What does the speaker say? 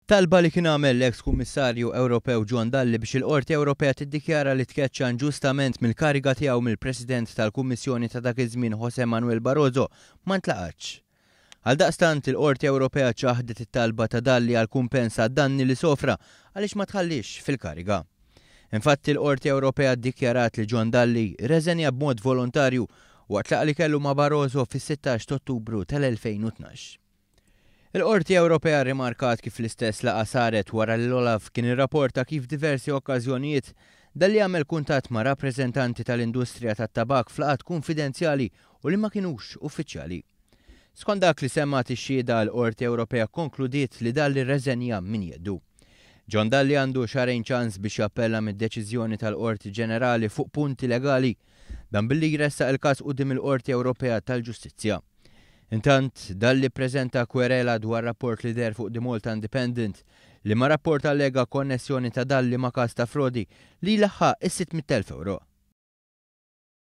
Talba li kien għamel l-eks Kummissarju Ewropew John Dalli biex il-Qorti Ewropea tiddikjara li tkeċċa inġustament mill-kariga tiegħu mill-President tal-Kummissjoni ta' dak iż-żmien José Manuel Barroso ma ntlaqgħetx. Għaldaqstant, il-Qorti Ewropea ċaħdet it-talba ta' Dalli għal kumpens għad-danni li sofra għaliex ma tħalliex fil-kariga. Infatti, il-Qorti Ewropea ddikjarat li John Dalli rreżenja b'mod volontarju waqt laqgħa li kellu ma' Barroso fis-16 t'Ottubru tal-2012. Il-Qorti Ewropea rrimarkat kif l-istess laqgħa saret wara li l-OLAF kien irrapporta kif f'diversi okkażjonijiet Dalli għamel kuntatt ma' rappreżentanti tal-industrija tat-tabakk f'laqgħat kunfidenzjali u li ma kinux uffiċjali. Skont dak li semgħet ix-xhieda, l-Qorti Ewropea kkonkludiet li Dalli rreżenja minn jeddu. John Dalli għandu xahrejn ċans biex jappella mid-deċiżjoni tal-Qorti Ġenerali fuq punti legali, dan billi jressaq il-każ quddiem il-Qorti Ewropea tal-Ġustizzja. Intant, Dalli ppreżenta kwerela dwar rapport li deher fuq The Malta Independent, liema rapport allega konnessjoni ta' Dalli ma' każ ta' frodi li jlaħħaq is-600,000 ewro.